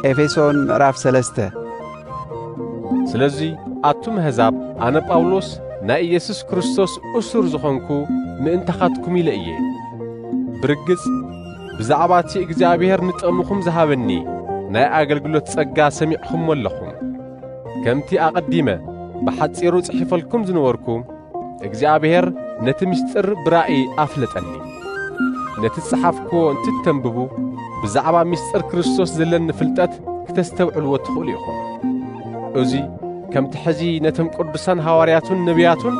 ኤፌሶን ምዕራፍ ሰለስተ። ስለዚ ኣቱም ኣህዛብ፣ ኣነ ጳውሎስ ናይ ኢየሱስ ክርስቶስ እሱር ዝኾንኩ ምእንታኻትኩም ኢለ እየ። ብርግጽ ብዛዕባ እቲ እግዚኣብሔር ንጥቕምኹም ዝሃበኒ ናይ ኣገልግሎት ጸጋ ሰሚዕኹምዎ ኣለኹም። ከምቲ ኣቐዲመ ብሓጺሩ ጽሒፈልኩም ዝነበርኩ፣ እግዚኣብሔር ነቲ ምስጢር ብራእይ ኣፍለጠኒ። ነቲ ዝጸሓፍክዎ እንትተንብቡ፣ ብዛዕባ ምስጢር ክርስቶስ ዘለኒ ፍልጠት ክተስተውዕልዎ ትኽእሉ ኢኹም። እዚ ከምቲ ሕዚ ነቶም ቅዱሳን ሃዋርያቱን ነቢያቱን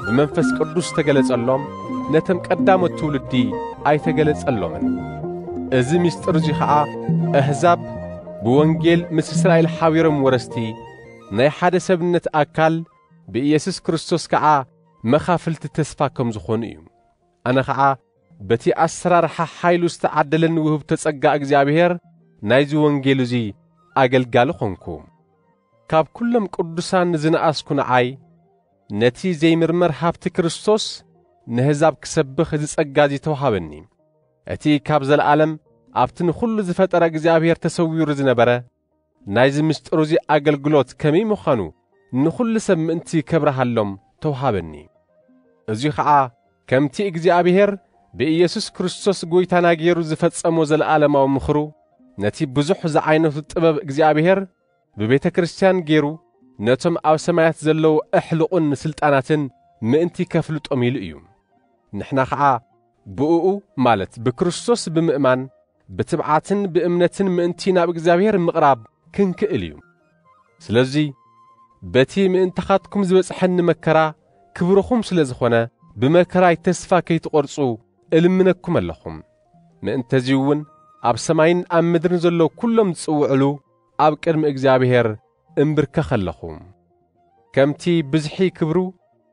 ብመንፈስ ቅዱስ ተገለጸሎም፣ ነቶም ቀዳሞት ትውልዲ ኣይተገለጸሎምን። እዚ ምስጢር እዚ ኸኣ ኣህዛብ ብወንጌል ምስ እስራኤል ሓቢሮም ወረስቲ ናይ ሓደ ሰብነት ኣካል ብኢየሱስ ክርስቶስ ከኣ መኻፍልቲ ተስፋ ከም ዝኾኑ እዩ። ኣነ ኸኣ በቲ ኣሰራርሓ ሓይሉ ዝተዓደለኒ ውህብቶ ጸጋ እግዚኣብሔር ናይዚ ወንጌል እዚ ኣገልጋሊ ኾንኩ። ካብ ኩሎም ቅዱሳን ዝነኣስኩ ንዓይ፣ ነቲ ዘይምርመር ሃብቲ ክርስቶስ ንህዛብ ክሰብኽ እዚ ጸጋ እዚ ተውሃበኒ። እቲ ካብ ዘለኣለም ኣብቲ ንኹሉ ዝፈጠረ እግዚኣብሔር ተሰዊሩ ዝነበረ ናይዚ ምስጢር እዚ ኣገልግሎት ከመይ ምዃኑ ንኹሉ ሰብ ምእንቲ ከብርሃሎም ተውሃበኒ። እዚ ኸዓ ከምቲ እግዚኣብሔር ብኢየሱስ ክርስቶስ ጐይታና ገይሩ ዝፈጸሞ ዘለኣለማዊ ምኽሩ፣ ነቲ ብዙሕ ዝዓይነቱ ጥበብ እግዚኣብሔር ብቤተ ክርስቲያን ገይሩ ነቶም ኣብ ሰማያት ዘለዉ ኣሕልቑን ስልጣናትን ምእንቲ ከፍልጦም ኢሉ እዩ። ንሕና ኸዓ ብእኡ፣ ማለት ብክርስቶስ ብምእማን፣ ብትብዓትን ብእምነትን ምእንቲ ናብ እግዚኣብሔር ምቕራብ ክንክእል እዩ። ስለዚ በቲ ምእንታኻትኩም ዝበጽሐኒ መከራ ክብርኹም ስለ ዝኾነ፣ ብመከራይ ተስፋ ከይትቖርጹ እልምነኩም ኣለኹም። ምእንተዚ እውን ኣብ ሰማይን ኣብ ምድርን ዘለዉ ኩሎም ዝጽውዕሉ ኣብ ቅድሚ እግዚኣብሔር እምብርከኽ ኣለኹ። ከምቲ ብዝሒ ክብሩ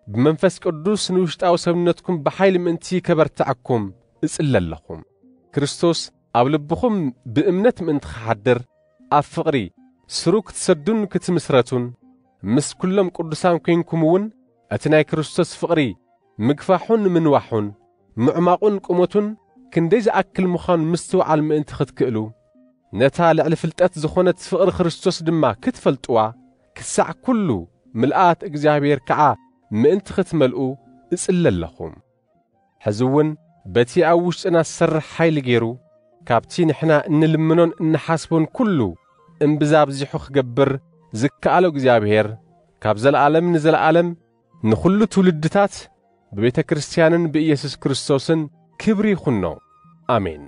ብመንፈስ ቅዱስ ንውሽጣዊ ሰብነትኩም ብሓይሊ ምእንቲ ከበርትዐኩም እጽሊ ኣለኹ። ክርስቶስ ኣብ ልብኹም ብእምነት ምእንቲ ክሓድር፣ ኣብ ፍቕሪ ስሩ ክትሰዱን ክትምስረቱን፣ ምስ ኩሎም ቅዱሳን ኴንኩም እውን እቲ ናይ ክርስቶስ ፍቕሪ ምግፋሑን ምንዋሑን፣ ምዕማቑን ቁመቱን ክንደይ ዝኣክል ምዃኑ ምስትውዓል ምእንቲ ክትክእሉ፣ ነታ ልዕሊ ፍልጠት ዝኾነት ፍቕሪ ክርስቶስ ድማ ክትፈልጥዋ፣ ክሳዕ ኩሉ ምልኣት እግዚኣብሔር ከዓ ምእንቲ ክትመልኡ እጽሊ ኣለኹ። ሕዚ እውን በቲ ኣብ ውሽጥና ዝሰርሕ ሓይሊ ገይሩ፣ ካብቲ ንሕና እንልምኖን እንሓስቦን ኩሉ እምብዛ ኣብዚሑ ክገብር ዝከኣሎ እግዚኣብሔር፣ ካብ ዘለኣለም ንዘለኣለም ንኹሉ ትውልድታት ብቤተ ክርስቲያንን ብኢየሱስ ክርስቶስን ክብሪ ይኹኖ። ኣሜን።